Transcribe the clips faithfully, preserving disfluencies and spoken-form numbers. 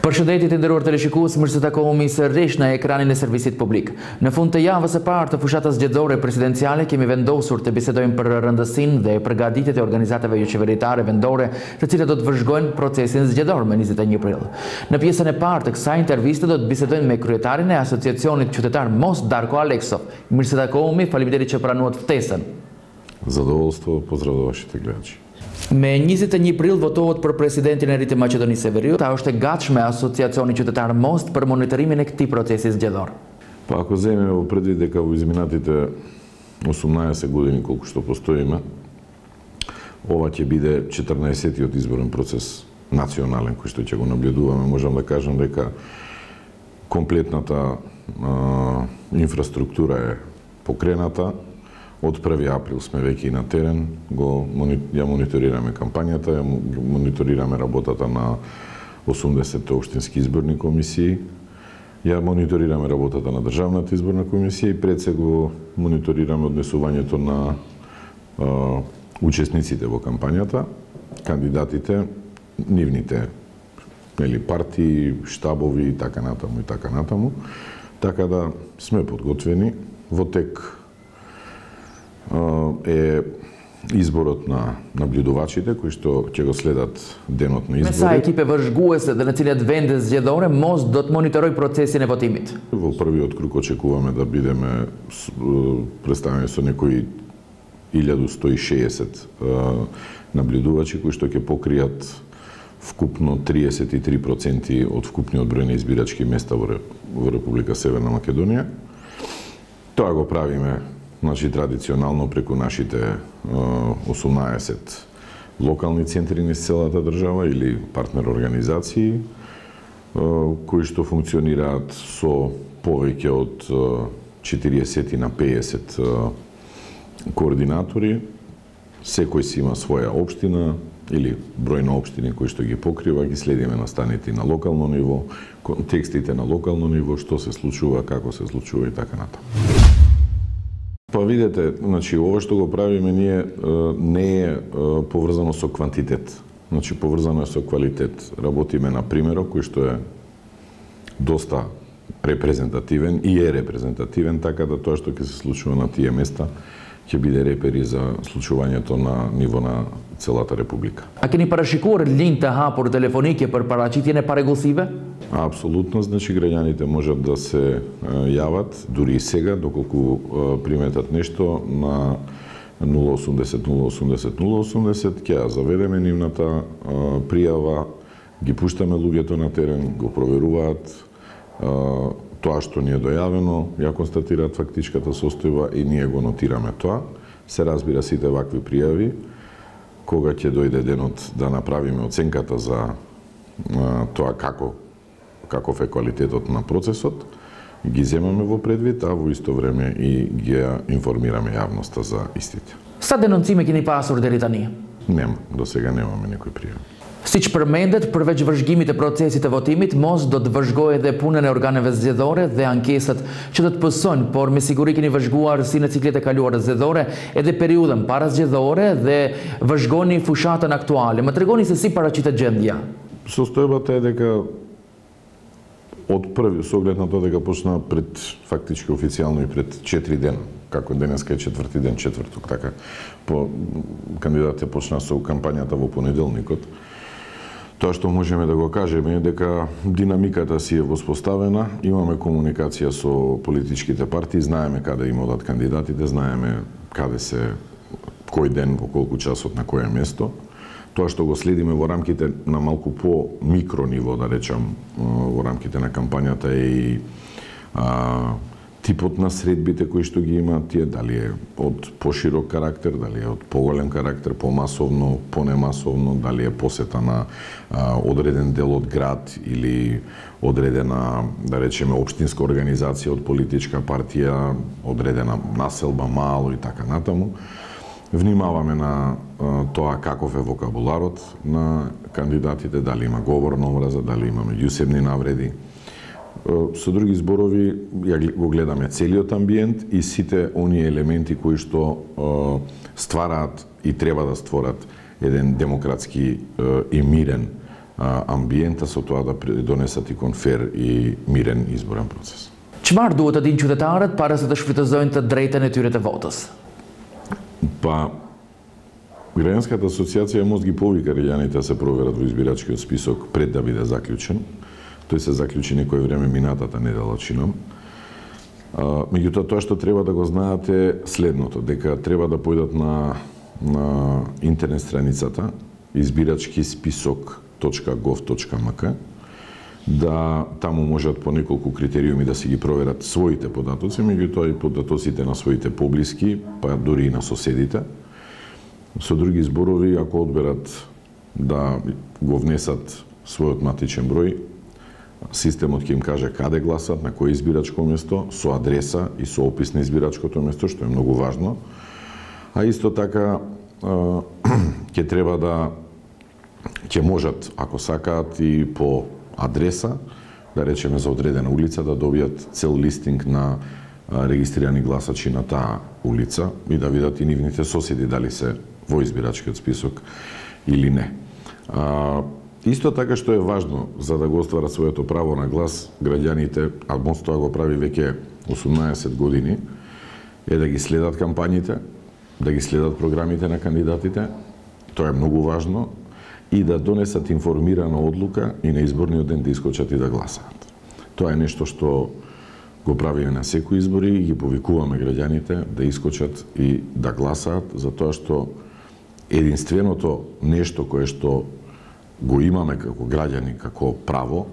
Përshëndetje nderuar teleshikues, mirë se takohemi sërish në ekranin e servisit publik. Në fund të javës së parë të fushatës zgjedhore presidenciale kemi vendosur të bisedojmë për rëndësinë dhe përgatitjet e organizatave jo qeveritare vendore, të cilat do të vëzhgojnë procesin zgjedhor më njëzet e një prill. Në pjesën e parë të kësaj interviste do të bisedojmë me kryetarin e Asociacionit Qytetar Most Darko Aleksov. Mirë se takohemi, faleminderit që pranuat ftesën. Zadovoljstvo, pozdrav do vaših gledači. Me njëzet e një prill votohet për presidentin e ri të Maqedonisë së Veriut. Ta është e gatshme Asociacioni Qytetar Most për monitorimin e këtij procesi zgjedhor. Па ако земеме во предвид дека во изминатите осумнаесет години колку што постоиме, ова ќе биде четрнаесеттиот изборен процес национален кој што ќе го наблюдуваме, можам да кажам дека комплетната а, инфраструктура е покрената. Од први април сме веќе и на терен, го ја мониторираме кампањата, ја мониторираме работата на осумдесет општински изборни комисии, ја мониторираме работата на Државната изборна комисија и пред се го мониторираме однесувањето на а, учесниците во кампањата, кандидатите, нивните нели партии, штабови и така натаму и така натаму. Така да сме подготвени. Во тек е изборот на наблюдувачите кои што ќе го следат денот на изборот. Me sa ekipe vëzhguese dhe në cilat vende zgjedhore Most do të monitoroj procesin e votimit? Во првиот круг очекуваме да бидеме представени со некои илјаду сто и шеесет наблюдувачи кои што ќе покријат вкупно триесет и три проценти од вкупниот број на избирачки места во Република Северна Македонија. Тоа го правиме значи традиционално преку нашите осумнаесет локални центри низ целата држава или партнер организации кои што функционираат со повеќе од четириесет на пеесет координатори. Секој си има своја општина или број на општини кои што ги покрива, ги следиме настаните на локално ниво, контекстите на локално ниво, што се случува, како се случува и така натаму. Па видете, значи ова што го правиме ние не е поврзано со квантитет, значи поврзано е со квалитет. Работиме на примерок кој што е доста репрезентативен и е репрезентативен, така да тоа што ќе се случува на тие места ќе биде репери за случувањето на ниво на целата република. A keni parashikuar linjë të hapur telefonike për paraqitjen e парегулсиве? Апсолутно, значи граѓаните можат да се јават дури и сега доколку приметат нешто на нула осумдесет нула осумдесет нула осумдесет, ќе ја заведеме нивната пријава, ги пуштаме луѓето на терен, го проверуваат тоа што ни е дојавено, ја констатираат фактичката состојба и ние го нотираме тоа. Се разбира сите вакви пријави, кога ќе дојде денот да направиме оценката за тоа како каков е квалитетот на процесот, ги земаме во предвид, а во исто време и ги информираме јавноста за истите. Sa denoncime keni pasur deri tani? Нема, до сега немаме некој пријав. Siç përmendet, përveç vëzhgimit të procesit të votimit, Most do të vëzhgojë edhe punën e organeve zgjedhore dhe ankesat që do të pësojnë, por me siguri keni vëzhguar si në ciklet e kaluara zgjedhore edhe periudhën para zgjedhore dhe vëzhgoni fushatën aktuale. Më tregoni se si paraqitet gjendja. Состојбата е дека од први, со оглед на тоа дека почна пред фактички официјално и пред четири дена, како денеска е четврти ден, четврток, така, по кандидатите почна со кампањата во понеделникот. Тоа што можеме да го кажеме е дека динамиката си е воспоставена, имаме комуникација со политичките партии, знаеме каде им одат кандидатите, знаеме каде се, кој ден, во колку часот, на кое место. Тоа што го следиме во рамките на малку по микро ниво, да речам, во рамките на кампањата е и а, типот на средбите кои што ги имаат тие, дали е од поширок карактер, дали е од поголем карактер, помасовно, понемасовно, дали е посета на а, одреден дел од град или одредена, да речеме, општинска организација од политичка партија, одредена населба, мало и така натаму. Внимаваме на а, тоа каков е вокабуларот на кандидатите, дали има говор на омраза, дали има меѓусебни навреди. Со други зборови, ја го гледаме целиот амбиент и сите оние елементи кои што ствараат и треба да створат еден демократски и мирен амбиента, со тоа да донесат и конфер и мирен изборен процес. Çfarë duhet të dinë qytetarët para se të shfrytëzojnë të drejtën e tyre të votës? Па, Граѓанската асоциација Мост ги повика граѓаните да се проверат во избирачкиот список пред да биде заклучен. Тој се заклучи некој време минатата недела, чинам. Меѓутоа, тоа што треба да го знаат е следното, дека треба да појдат на, на интернет страницата избирачки список точка гов точка ем ка, да таму можат по неколку критериуми да си ги проверат своите податоци, меѓутоа и податоците на своите поблиски, па дури и на соседите. Со други зборови, ако одберат да го внесат својот матичен број, системот ќе им каже каде гласат, на кој избирачко место, со адреса и со опис на избирачкото место, што е многу важно. А исто така ќе треба да ќе можат, ако сакаат, и по адреса, да речеме за одредена улица, да добијат цел листинг на регистрирани гласачи на таа улица и да видат и нивните соседи дали се во избирачкиот список или не. А, исто така што е важно за да го остварат своето право на глас граѓаните, а Мост тоа го прави веќе осумнаесет години, е да ги следат кампањите, да ги следат програмите на кандидатите, тоа е многу важно, и да донесат информирана одлука и на изборниот ден да искочат и да гласаат. Тоа е нешто што го правиме на секои избори и ги повикуваме граѓаните да искочат и да гласаат, затоа што единственото нешто кое што го имаме како граѓани, како право,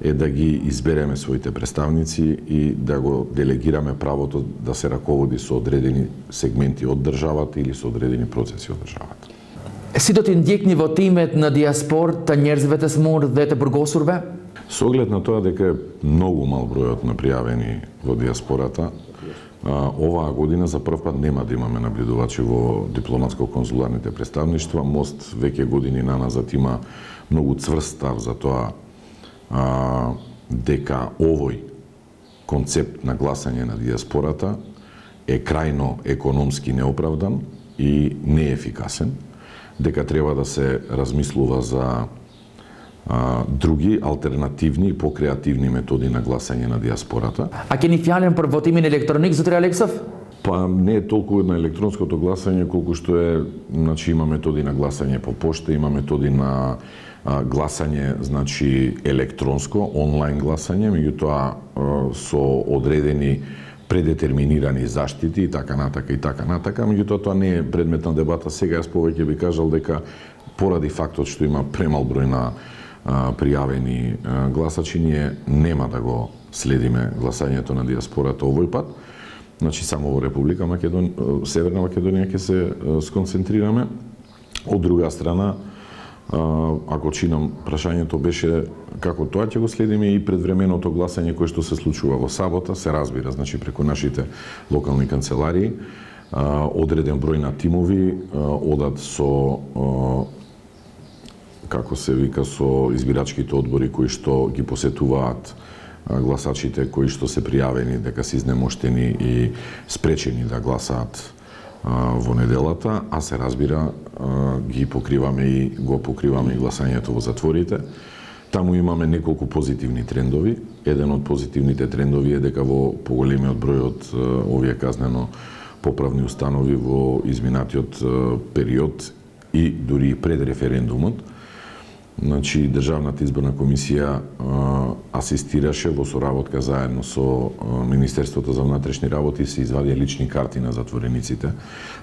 е да ги избереме своите представници и да го делегираме правото да се раководи со одредени сегменти од државата или со одредени процеси од државата. Si do t'i ndjekni votimet në diasporë të njerëzve të smur dhe të burgosurve? Со оглед на тоа дека е многу мал бројот на пријавени во диаспората, оваа година за прв пат нема да имаме наблюдувачи во дипломатско-конзуларните представништва. Мост веќе години наназад има многу цврст став за тоа а, дека овој концепт на гласање на диаспората е крајно економски неоправдан и неефикасен, дека треба да се размислува за а, други алтернативни и покреативни методи на гласање на диаспората. A keni fjalën për votimin elektronik, zotëri Aleksov? Па не е толку на електронското гласање колку што е, значи има методи на гласање по пошта, има методи на а, гласање, значи електронско, онлайн гласање, меѓутоа со одредени предетерминирани заштити и така натака и така натака, меѓутоа тоа не е предмет на дебата сега. Јас повеќе би кажал дека поради фактот што има премал број на а, пријавени а, гласачи, ние нема да го следиме гласањето на диаспората овој пат. Значи само во Република Македонија, Северна Македонија ќе се сконцентрираме. Од друга страна, ако чинам прашањето беше како тоа ќе го следиме и предвременото гласање кое што се случува во сабота, се разбира, значи преку нашите локални канцеларии, одреден број на тимови одат со, како се вика, со избирачките одбори кои што ги посетуваат гласачите кои што се пријавени дека се изнемоштени и спречени да гласаат во неделата, а се разбира ги покриваме и го покриваме и гласањето во затворите. Таму имаме неколку позитивни трендови. Еден од позитивните трендови е дека во поголемиот број од овие казнено поправни установи во изминатиот период и дури пред референдумот, значи Државната изборна комисија а, асистираше во соработка заедно со а, Министерството за внатрешни работи, се извадија лични карти на затворениците,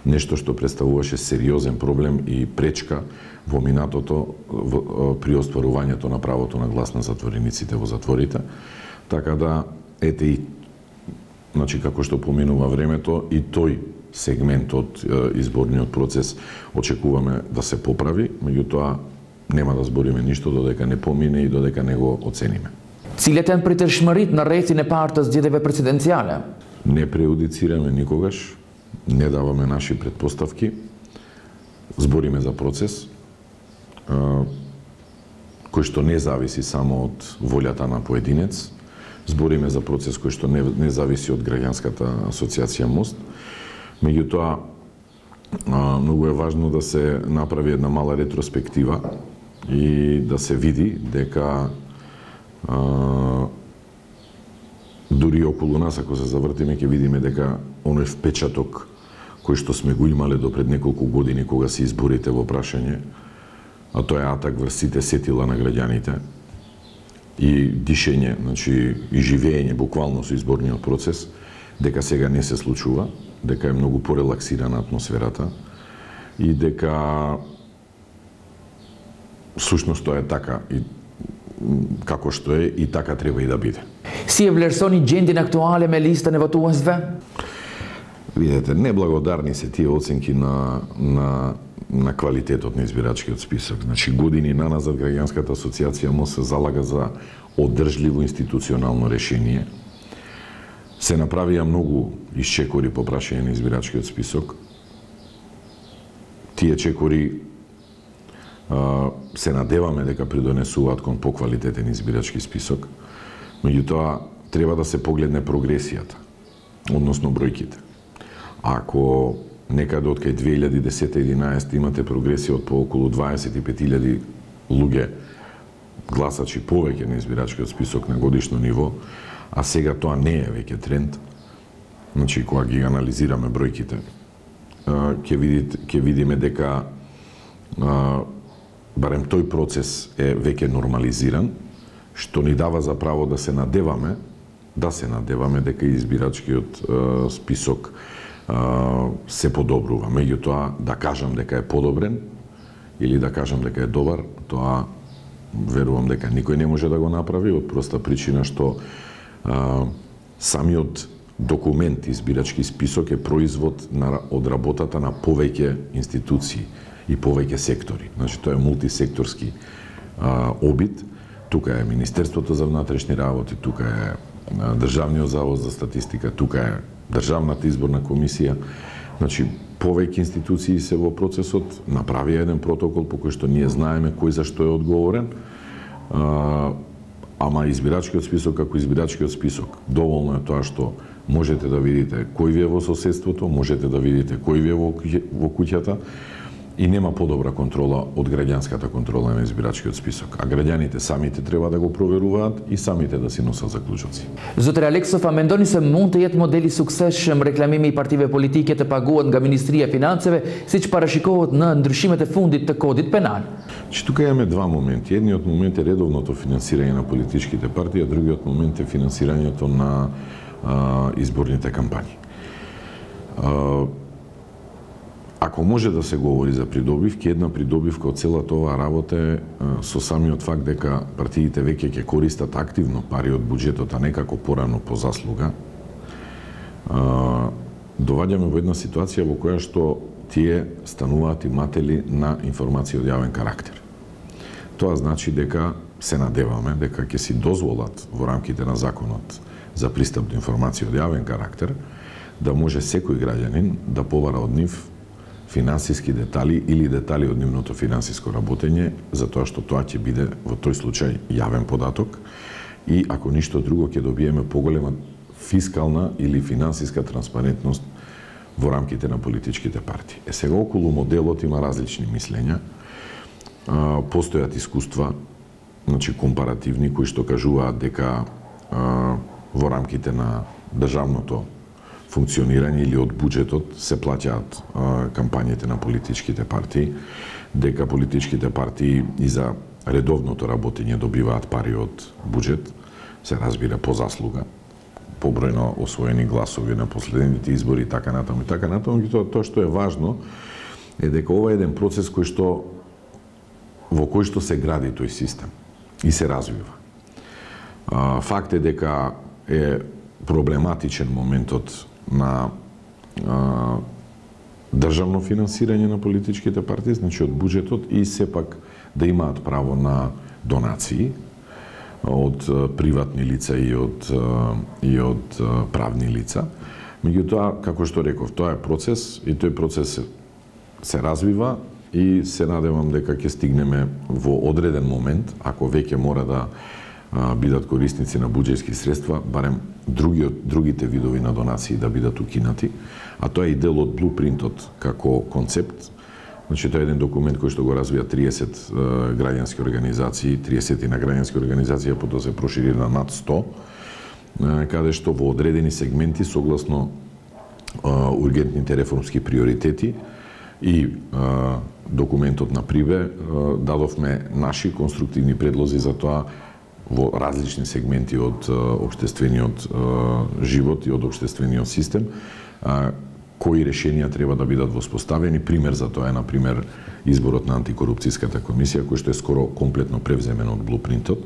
нешто што представуваше сериозен проблем и пречка во минатото во, а, при остварувањето на правото на глас на затворениците во затворите. Така да, ете и, значи како што поменува времето, и тој сегмент од а, изборниот процес очекуваме да се поправи, меѓутоа нема да збориме ништо додека не помине и додека не го оцениме. Cilat janë pritëshmëritë në rrethin e parë të zgjedhjeve presidenciale? Не преудицираме никогаш, не даваме наши предпоставки, збориме за процес кој што не зависи само од волјата на поединец, збориме за процес кој што не, не зависи од граѓанската асоциација Мост. Меѓутоа, многу е важно да се направи една мала ретроспектива и да се види дека а, дури околу нас, ако се завртиме, ќе видиме дека оној впечаток кој што сме го имале до пред неколку години кога се изборите во прашање, а тоа е атак врз сите сетила на граѓаните и дишење, значи и живење буквално со изборниот процес, дека сега не се случува, дека е многу порелаксирана атмосферата и дека сушност тоа е така и како што е и така треба и да биде. Si e vlerësoni gjendjen aktuale me listën e votuesve? Видете, неблагодарни се тие оценки на на на квалитетот на избирачкиот список. Значи години наназад граѓанската асоциација МО се залага за одржливо институционално решение. Се направија многу исчекори по прашање на избирачкиот список. Тие чекори а, се надеваме дека придонесуваат кон поквалитетен избирачки список. Меѓутоа, треба да се погледне прогресијата, односно бројките. Ако некаде од кај две илјади и десета и единаесета имате прогресија од по околу дваесет и пет илјади луѓе гласачи повеќе на избирачкиот список на годишно ниво, а сега тоа не е веќе тренд, значи кога ги анализираме бројките, ќе видите, ќе видиме дека барем тој процес е веќе нормализиран, што ни дава за право да се надеваме, да се надеваме дека избирачкиот е, список е, се подобрува. Меѓутоа, да кажам дека е подобрен или да кажам дека е добар, тоа верувам дека никој не може да го направи од проста причина што е, самиот документ избирачки список е производ на, од работата на повеќе институции и повеќе сектори. Значи тоа е мултисекторски е, обид. Тука е Министерството за внатрешни работи, тука е Државниот завод за статистика, тука е Државната изборна комисија. Значи, повеќе институции се во процесот, направија еден протокол по кој што ние знаеме кој за што е одговорен, а, ама избирачкиот список како избирачкиот список. Доволно е тоа што можете да видите кој ви е во соседството, можете да видите кој ви е во, во куќата, и нема подобра контрола од граѓанската контрола на избирачкиот список. А граѓаните самите треба да го проверуваат и самите да си носат заклучоци. Zotëri Aleksov, a mendoni se mund të jetë model i suksesshëm reklamimi i partive politike të paguhet nga Ministria e Financeve, siç parashikohet në ndryshimet e fundit të kodit penal? Че тука имаме два моменти. Едниот момент е редовното финансирање на политичките партии, а другиот момент е финансирањето на а, изборните кампањи. А, Ако може да се говори за придобивки, една придобивка од целата оваа работа е со самиот факт дека партиите веќе ќе користат активно пари од буџетот, а некако порано по заслуга, доваѓаме во една ситуација во која што тие стануваат иматели на информации од јавен карактер. Тоа значи дека се надеваме дека ќе си дозволат во рамките на законот за пристап до информации од јавен карактер да може секој граѓанин да побара од нив финансиски детали или детали од нивното финансиско работење, затоа што тоа ќе биде во тој случај јавен податок и ако ништо друго ќе добиеме поголема фискална или финансиска транспарентност во рамките на политичките партии. Е сега околу моделот има различни мислења. А, постојат искуства, значи компаративни, кои што кажуваат дека а, во рамките на државното функционирање или од буџетот се плаќаат а, кампањите на политичките партии, дека политичките партии и за редовното работење добиваат пари од буџет, се разбира по заслуга, по број на освоени гласови на последните избори и така натаму и така натаму. И тоа, тоа што е важно е дека ова е еден процес кој што во кој што се гради тој систем и се развива. А, факт е дека е проблематичен моментот на а, државно финансирање на политичките партии, значи од буџетот, и сепак да имаат право на донации од приватни лица и од и од правни лица. Меѓутоа, како што реков, тоа е процес и тој процес се развива и се надевам дека ќе стигнеме во одреден момент, ако веќе мора да бидат корисници на буџетски средства, барем други, другите видови на донации да бидат укинати, а тоа е и дел од блупринтот како концепт Значи, тоа е еден документ кој што го развија триесет граѓански организации, триесет на граѓански организации, а потоа се прошири на над сто, каде што во одредени сегменти, согласно ургентните реформски приоритети и документот на Прибе, дадовме наши конструктивни предлози за тоа во различни сегменти од општествениот живот и од општествениот систем, кои решенија треба да бидат воспоставени. Пример за тоа е, например, изборот на антикорупцијската комисија, кој што е скоро комплетно превземен од блупринтот.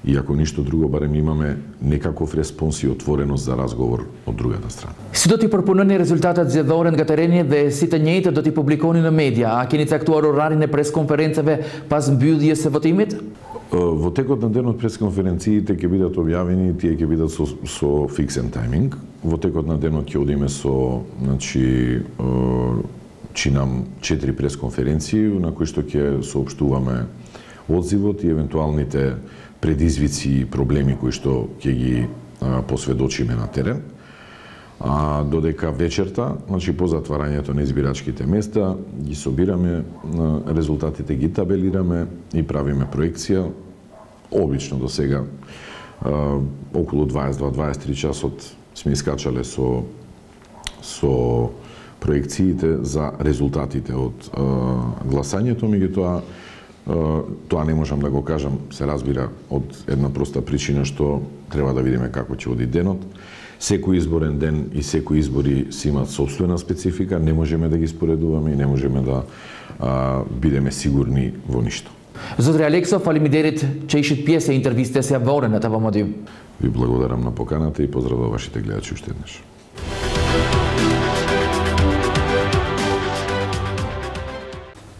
И ако ништо друго, барем имаме некаков респонс и отвореност за разговор од другата страна. Си доти пропонени резултатот зјадорен га терени де сите њеите доти публикони на медија, а ќе ни цактуар орарине пресконференцеве пас бюдија се во тимит? Во текот на денот пресконференциите ќе бидат објавени, тие ќе бидат со, со фиксен тајминг. Во текот на денот ќе одиме со, значи, чинам четири пресконференции на кои што ќе соопштуваме одзивот и евентуалните предизвици и проблеми кои што ќе ги посведочиме на терен. А додека вечерта, значи по затварањето на избирачките места, ги собираме резултатите, ги табелираме и правиме проекција. Обично до сега околу дваесет до дваесет и три часот сме искачале со со проекциите за резултатите од гласањето, меѓутоа тоа не можам да го кажам, се разбира, од една проста причина што треба да видиме како ќе оди денот. Секој изборен ден и секои избори си имаат собствена специфика, не можеме да ги споредуваме и не можеме да а, бидеме сигурни во ништо. Зотри Алексов, фалимидерит чејшит пиесе интервисте се ворената во модиум. Ви благодарам на поканата и поздрав до вашите гледачи уште еднаш.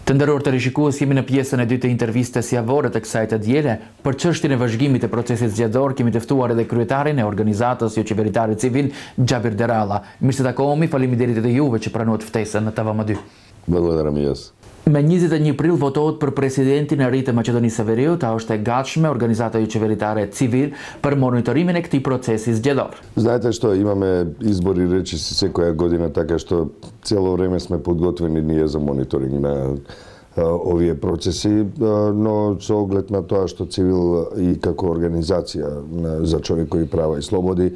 Тендерорте решикува си на пиеса на двете интервисте си ворат сајта диеле, për çështjen e vazhdimit të procesit zgjedhor kemi të ftuar edhe kryetarin e organizatës jo qeveritare civil Xhabir Deralla. Mirë se takohemi, faleminderit edhe juve që pranuat ftesën në T V M dy. Благодарам и јас. Me njëzet e një prill votohet për presidentin e ri të Maqedonisë së Veriut, a është e gatshme organizata jo qeveritare civil për monitorimin e këtij procesi zgjedhor. Знаете што, имаме избори речиси секоја година, така што цело време сме подготвени ние за мониторинг на овие процеси, но со оглед на тоа што Цивил и како организација за човекови права и слободи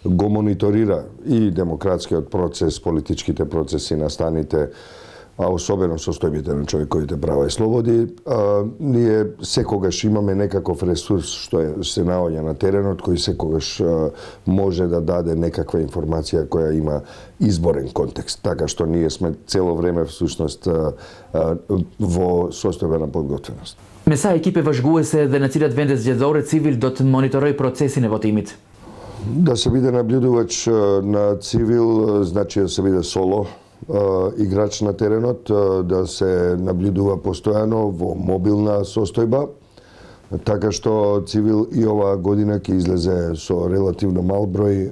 го мониторира и демократскиот процес, политичките процеси на станите, а особено состојбите на човековите права и слободи, а, ние секогаш имаме некаков ресурс што е, се наоѓа на теренот, кој секогаш а, може да даде некаква информација која има изборен контекст. Така што ние сме цело време всушност а, а, во состојбена подготвеност. Me sa ekipe vazhguese dhe në cilat vende zgjedhore Civil do të monitoroj procesin e votimit? Да се биде наблюдувач на Цивил, значи да се биде соло играч на теренот, да се наблюдува постојано во мобилна состојба, така што Цивил и оваа година ќе излезе со релативно мал број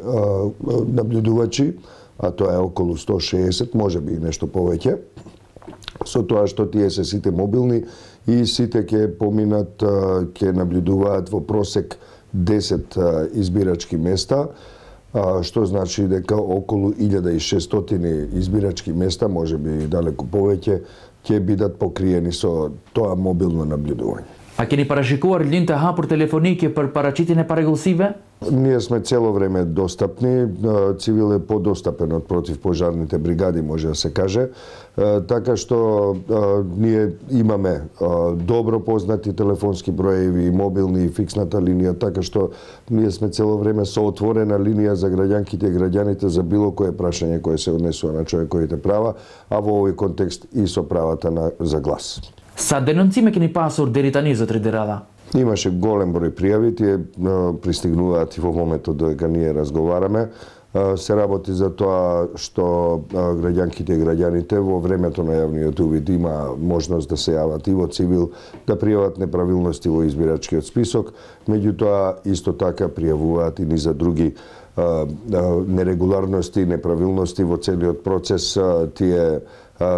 наблюдувачи, а тоа е околу сто шеесет, може би и нешто повеќе, со тоа што тие се сите мобилни и сите ќе поминат, ќе наблюдуваат во просек десет избирачки места, што значи дека околу илјада и шестстотини избирачки места, може би далеку повеќе, ќе бидат покриени со тоа мобилно наблюдување. A keni parashikuar linjë të hapur telefonike për paraqitjen e parregullsive? Ние сме цело време достапни, Цивил е подостапен од противпожарните бригади, може да се каже, така што ние имаме добро познати телефонски броеви, мобилни и фиксната линија, така што ние сме цело време со отворена линија за граѓанките и граѓаните за било кое прашање кое се однесува на човековите права, а во овој контекст и со правата на, за глас. Sa denoncime keni pasur deri tani, zotri Deralla? Имаше голем број пријави, тие пристигнуваат и во моментот додека ние разговараме. Се работи за тоа што граѓанките и граѓаните во времето на јавниот увид има можност да се јават и во Цивил, да пријават неправилности во избирачкиот список, меѓутоа исто така пријавуваат и низа други нерегуларности, неправилности во целиот процес. Тие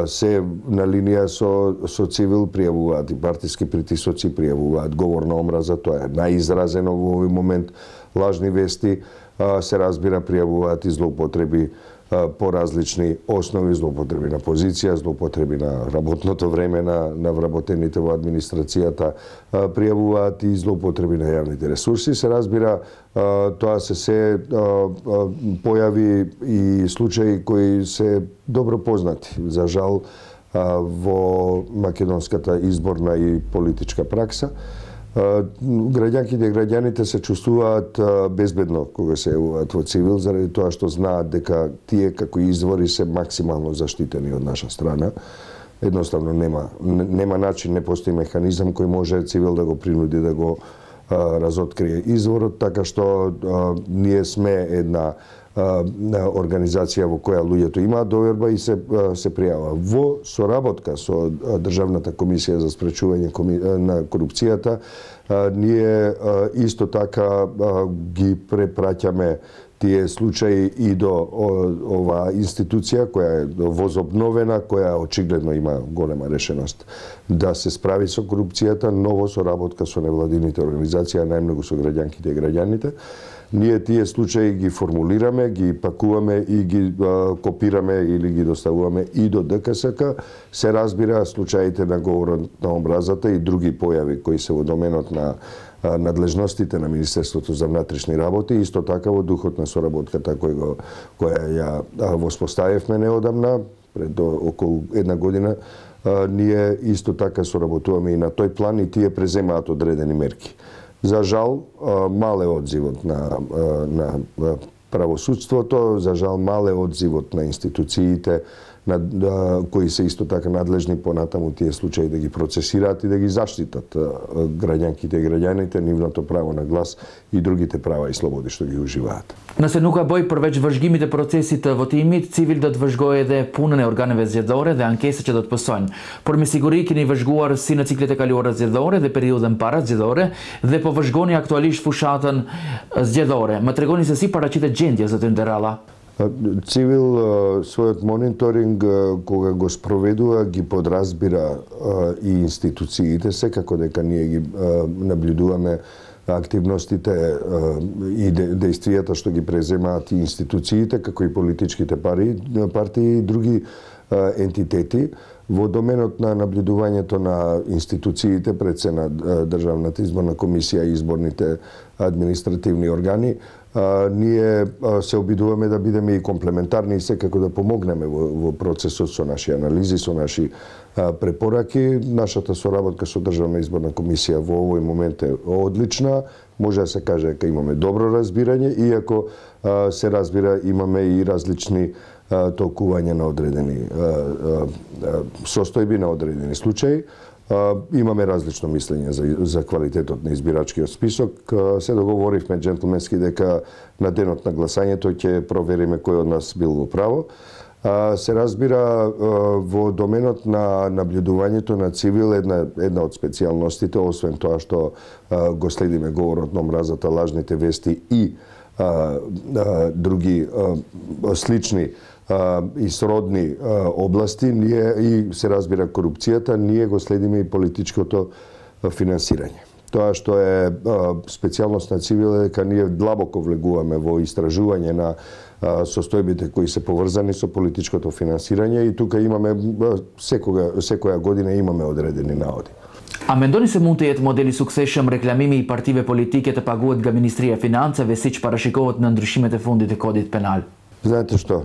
се на линија со, со Цивил, пријавуваат и партиски притисоци, пријавуваат говор на омраза, тоа е најизразено во овој момент, лажни вести, се разбира, пријавуваат и злоупотреби по различни основи, злоупотреби на позиција, злоупотреби на работното време на, на вработените во администрацијата, пријавуваат и злоупотреби на јавните ресурси. Се разбира, тоа се се појави и случаи кои се добро познати. За жал, во македонската изборна и политичка пракса, граѓанките и граѓаните се чувствуваат безбедно кога се јавуваат во цивил, заради тоа што знаат дека тие како извори се максимално заштитени од наша страна. Едноставно нема нема начин, не постои механизам кој може цивил да го принуди да го а, разоткрие изворот, така што а, ние сме една организација во која луѓето имаат доверба и се се пријава. Во соработка со Државната комисија за спречување на корупцијата, ние исто така ги препраќаме тие случаи и до оваа институција која е возобновена, која очигледно има голема решеност да се справи со корупцијата, но во соработка со невладините организации, најмногу со граѓанките и граѓаните. Ние тие случаи ги формулираме, ги пакуваме и ги а, копираме или ги доставуваме и до ДКСК. Се разбира случаите на говорот на омразата и други појави кои се во доменот на а, надлежностите на Министерството за внатрешни работи, исто така во духот на соработката кој го, која ја воспоставивме неодамна, пред околу една година, а, ние исто така соработуваме и на тој план и тие преземаат одредени мерки. За жал, мал е одзивот на, на правосудството, за жал мал е одзивот на институциите, на, да, кои се исто така надлежни понатаму тие случаи да ги процесираат и да ги заштитат граѓанките и граѓаните, нивното право на глас и другите права и слободи што ги уживаат. На се нука бој првеќе вршгимите процесите во тимит, цивил да вршгоеде пунене органеве зједоре, да анкеса ќе да отпосоњ. Порми сигури ки ни вршгуар си на циклите калиора зједоре, да периоден пара зједоре, да по вршгони актуалиш фушатан зједоре. Ма трегони се си парачите джендија за тендерала. Цивил својот мониторинг кога го спроведува ги подразбира и институциите, секако дека ние ги наблюдуваме активностите и дејствијата што ги преземаат и институциите, како и политичките пари, партии и други ентитети. Во доменот на наблюдувањето на институциите, пред се на Државната изборна комисија и изборните административни органи, А, ние а, се обидуваме да бидеме и комплементарни и секако да помогнеме во, во процесот со наши анализи, со наши а, препораки. Нашата соработка со Државна изборна комисија во овој момент е одлична. Може да се каже дека имаме добро разбирање, иако а, се разбира имаме и различни а, толкувања на одредени а, а, состојби, на одредени случаи. Uh, имаме различно мислење за, за квалитетот на избирачкиот список. Uh, се договоривме джентлменски дека на денот на гласањето ќе провериме кој од нас бил во право. Uh, се разбира uh, во доменот на наблюдувањето на цивил една, една од специјалностите, освен тоа што uh, го следиме говорот на омразата, лажните вести и uh, uh, други uh, слични и сродни области, ние и се разбира корупцијата, ние го следиме и политичкото финансирање. Тоа што е специјалност на цивил е дека ние длабоко влегуваме во истражување на состојбите кои се поврзани со политичкото финансирање и тука имаме секога секоја година имаме одредени наоди. A mendoni se mund të jetë modeli suksesshëm reklamimi i partive politike të paguhet nga Ministria e Financave siç parashikohet në ndryshimet e fundit të kodit penal? Знаете што,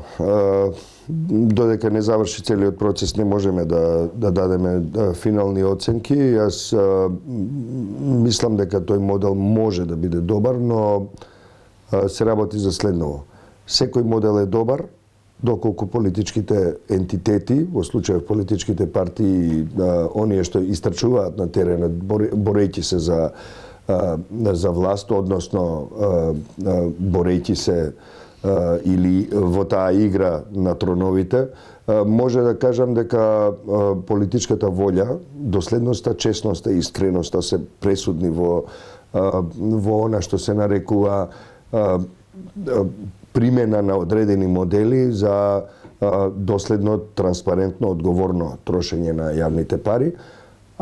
додека не заврши целиот процес не можеме да, да дадеме финални оценки. Јас мислам дека тој модел може да биде добар, но се работи за следново. Секој модел е добар доколку политичките ентитети, во случајот политичките партии, оние што истрчуваат на теренот, борејќи се за, за власт, односно борејќи се или во таа игра на троновите, може да кажам дека политичката волја, доследноста, честноста и искреноста се пресудни во во она што се нарекува примена на одредени модели за доследно, транспарентно, одговорно трошење на јавните пари.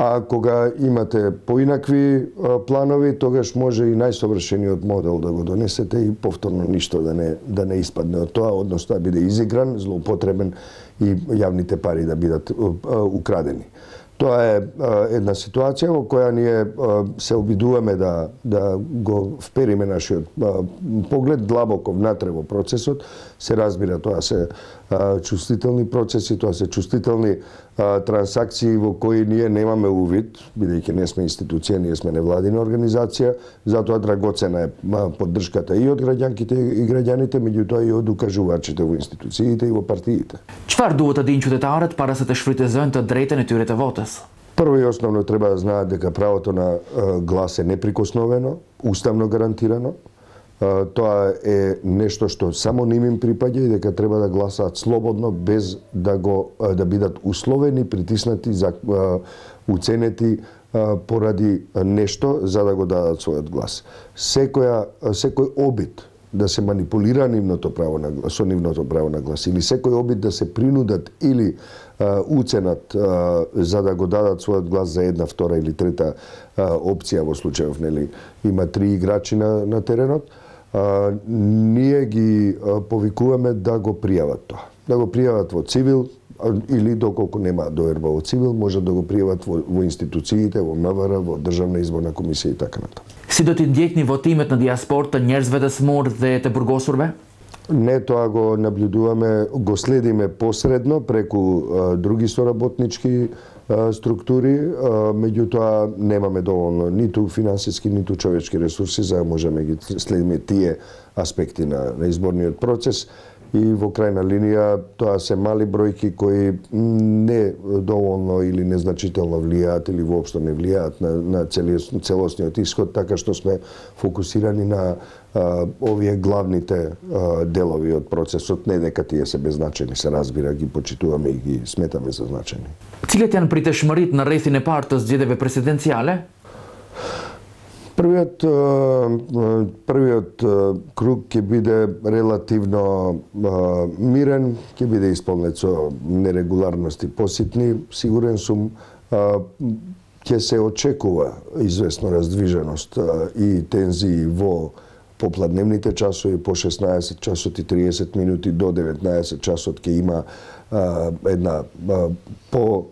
А кога имате поинакви планови, тогаш може и најсовршениот модел да го донесете и повторно ништо да не да не испадне од тоа, односно да биде изигран, злоупотребен и јавните пари да бидат украдени. Тоа е една ситуација во која ние се обидуваме да да го впериме нашиот поглед длабоко внатре во процесот. Се разбира, тоа се чувствителни процеси, тоа се чувствителни трансакции во кои ние немаме увид, бидејќи не сме институција, ние сме невладина организација, затоа драгоцена е поддршката и од граѓанките и граѓаните, меѓутоа и од укажувачите во институциите и во партиите. Çfarë duhet të dinë qytetarët para se të shfrytëzojnë të drejtën e tyre të votës? Прво и основно треба да знаат дека правото на глас е неприкосновено, уставно гарантирано. Тоа е нешто што само ним им припаѓа и дека треба да гласаат слободно без да го да бидат условени, притиснати, за уценети поради нешто за да го дадат својот глас. Секоја секој обид да се манипулира нивното право на глас, со нивното право на глас или секој обид да се принудат или а, уценат а, за да го дадат својот глас за една, втора или трета а, опција во случајов, нели, има три играчи на, на теренот, а, ние ги а, повикуваме да го пријават тоа. Да го пријават во цивил, или доколку нема доверба во цивил, може да го пријават во, во институциите, во МВР, во Државна изборна комисија и така натаму. Si do t'i ndjekni votimet në diasport të njerëzve të smur dhe të burgosurve? Не, тоа го наблюдуваме, го следиме посредно преку а, други соработнички а, структури, а, меѓутоа немаме доволно ниту финансиски, ниту човечки ресурси за да можеме ги следиме тие аспекти на, на изборниот процес. И во крајна линија тоа се мали бројки кои не доволно или незначително влијаат или воопшто не влијаат на, на целосниот ишод, така што сме фокусирани на а, овие главните а, делови од процесот, не дека тие се беззначени, се разбира, ги почитуваме и ги сметаме за значени. Cilat janë priteshmëritë në rrethin e parë të zgjedhjeve presidenciale? Првиот првиот круг ќе биде релативно мирен, ќе биде исполнет со нерегуларности поситни. Сигурен сум ќе се очекува известно раздвиженост и тензии во попладневните часови, по шеснаесет часот и триесет минути до деветнаесет часот ќе има една по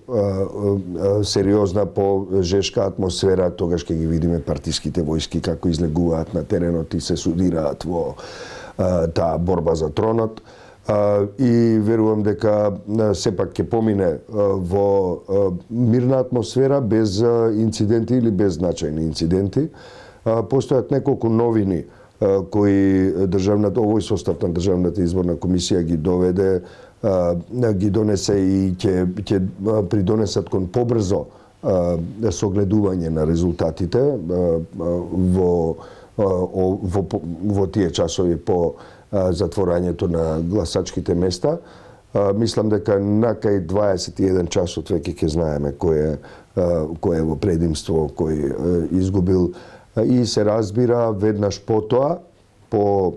сериозна, по жешка атмосфера, тогаш ќе ги видиме партиските војски како излегуваат на теренот и се судираат во таа борба за тронот. И верувам дека сепак ќе помине во мирна атмосфера, без инциденти или без значајни инциденти. Постојат неколку новини кои државната, овој состав на Државната изборна комисија ги доведе, ги донесе и ќе ќе придонесат кон побрзо согледување на резултатите во во во тие часови по затворањето на гласачките места. Мислам дека накај дваесет и еден часот веќе ќе знаеме кој е кој е во предимство, кој изгубил, и се разбира веднаш потоа по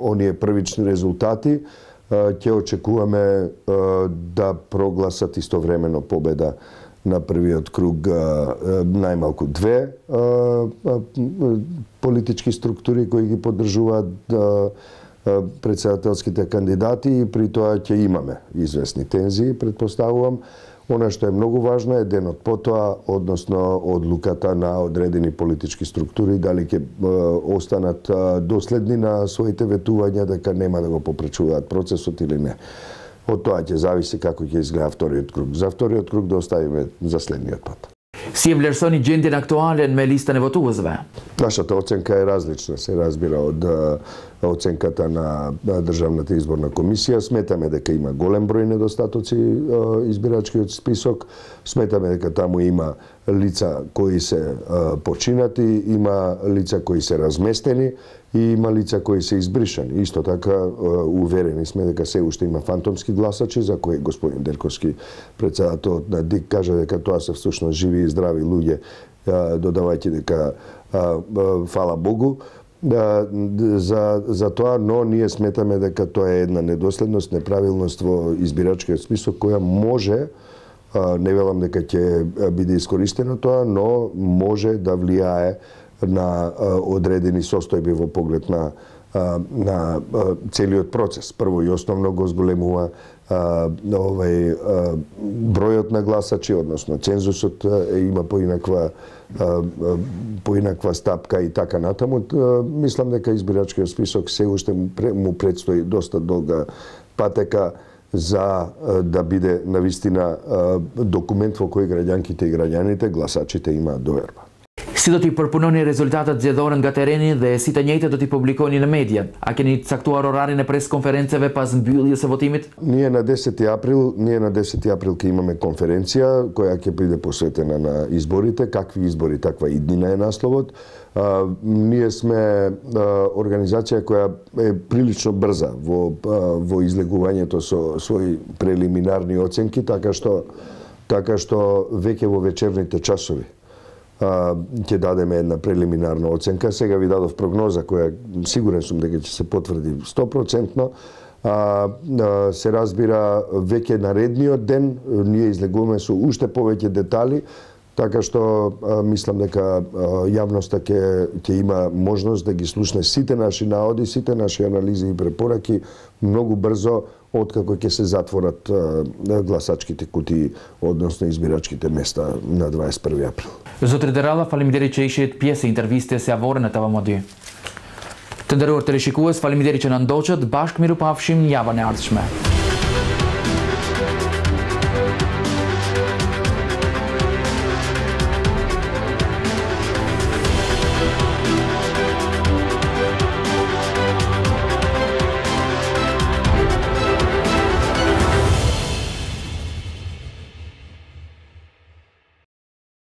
оние првични резултати ќе очекуваме да прогласат истовремено победа на првиот круг најмалку две политички структури кои ги поддржуваат председателските кандидати, и при тоа ќе имаме известни тензии, предпоставувам. Она што е многу важно е денот потоа, односно одлуката на одредени политички структури, дали ќе останат доследни на своите ветувања дека нема да го попречуваат процесот или не. Од тоа ќе зависи како ќе изгледа вториот круг. За вториот круг да оставиме за следниот пат. Si e vlerësoni gjendjen aktuale me listën e votuesve? Нашата оценка е различна, се разбира, од оценката на Државната изборна комисија. Сметаме дека има голем број недостатоци избирачкиот список. Сметаме дека таму има лица кои се починати, има лица кои се разместени и има лица кои се избришани. Исто така уверени сме дека се уште има фантомски гласачи, за кои господин Делковски, председателот на ДИК, кажа дека тоа се всушност живи и здрави луѓе, додавајќи дека фала Богу за, за тоа, но ние сметаме дека тоа е една недоследност, неправилност во избирачкиот список која може Не велам дека ќе биде искористено тоа, но може да влијае на одредени состојби во поглед на на целиот процес. Прво и основно го зголемува овај бројот на гласачи, односно цензусот има поинаква поинаква стапка и така натаму. Мислам дека избирачкиот список се уште му предстои доста долга патека за да биде навистина документ во кој граѓанките и граѓаните, гласачите имаат доверба. Сите ти пропонони резултатот зјадорен га терени да сите њејте да ти публикувани на медија, а ќе ни цактуар орари на пресконференцеве пас били се во тимит? Ние на десети април, ние на десети април ќе имаме конференција која ќе биде посветена на изборите, какви избори, таква иднина е насловот. А, ние сме а, организација која е прилично брза во а, во излегувањето со своји прелиминарни оценки, така што така што веќе во вечерните часови ќе дадеме една прелиминарна оценка. Сега ви дадов прогноза која сигурен сум дека ќе се потврди сто процентно. А, а, се разбира веќе наредниот ден ние излегуваме со уште повеќе детали, така што а, мислам дека а, јавноста ќе ќе има можност да ги слушне сите наши наоди, сите наши анализи и препораки многу брзо откако ќе се затворат а, гласачките кутии, односно избирачките места на дваесет и први април. Zotri faleminderit që ishit pjesë e intervistës së javore në T V M dy. Të nderuar teleshikues, faleminderit që na ndoqët, bashkë miru pafshim në javën e ardhshme.